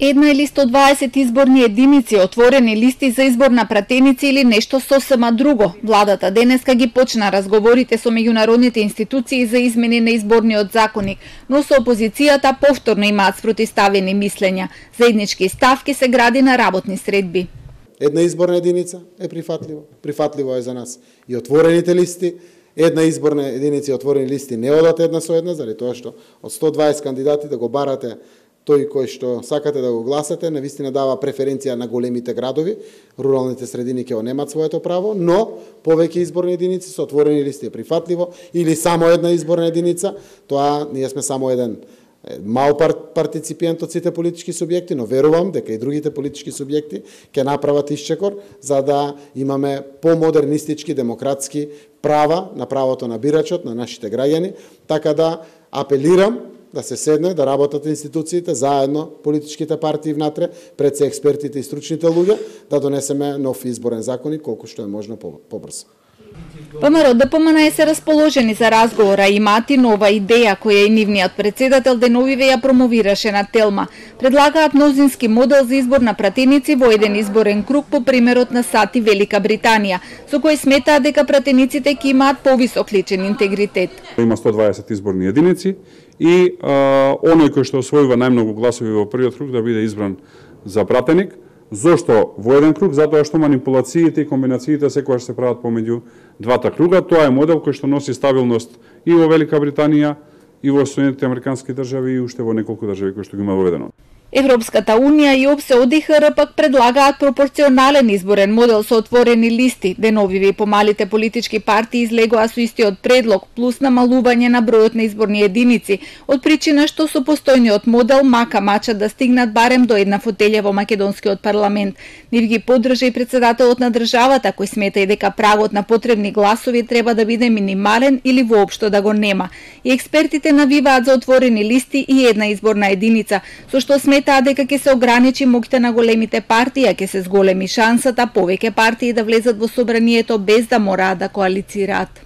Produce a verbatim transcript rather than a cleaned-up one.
Една или сто дваесет изборни единици, отворени листи за избор на пратеници или нешто сосема друго. Владата денеска ги почна разговорите со меѓународните институции за измени на изборниот законник, но со опозицијата повторно имаат спротивставени мислења. Заеднички ставки се гради на работни средби. Една изборна единица е прифатливо. Прифатливо е за нас и отворените листи. Една изборна единица и отворени листи не одат една со една, заради тоа што од сто дваесет кандидати да го барате тој кој што сакате да го гласате, навистина дава преференција на големите градови, руралните средини ќе немаат своето право, но повеќе изборни единици со отворени листи е прифатливо, или само една изборна единица, тоа ние сме само еден мал партиципиент од сите политички субјекти, но верувам дека и другите политички субјекти ќе направат исчекор за да имаме помодернистички, демократски права на правото на бирачот, на нашите граѓани, така да апелирам да се седне, да работат институциите, заедно политичките партии внатре, пред се експертите и стручните луѓе, да донесеме нов изборен законник колку што е можно побрзо. ВМРО Д П М Н се расположени за разговора и имаат и нова идеја која и нивниот председател деновиве ја промовираше на Телма. Предлагаат мнозински модел за избор на пратеници во еден изборен круг по примерот на САД и Велика Британија, со кој сметаат дека пратениците ќе имаат повисок личен интегритет. Има сто дваесет изборни единици и а, оној кој што освојува најмногу гласови во првиот круг да биде избран за пратеник. Зошто во еден круг? Затоа што манипулациите и комбинациите секогаш се прават помеѓу двата круга. Тоа е модел кој што носи стабилност и во Велика Британија, и во Соединетите Американски држави, и уште во неколку држави кои што ги има воведено. Европската унија и ОПСЕ О Д Х Р пак предлагаат пропорционален изборен модел со отворени листи. Деновиве и помалите политички партии излегоа со истиот предлог, плюс намалување на бројот на изборни единици, од причина што со постојниот модел мака мачат да стигнат барем до една фотелја во македонскиот парламент. Нив ги поддржа и председателот на државата, кој смета и дека прагот на потребни гласови треба да биде минимален или воопшто да го нема. И експертите навиваат за отворени листи и една изборна единица, со што смета таа дека ќе се ограничи моќта на големите партии, а ќе се зголеми шансата повеќе партии да влезат во собранието без да мораат да коалицираат.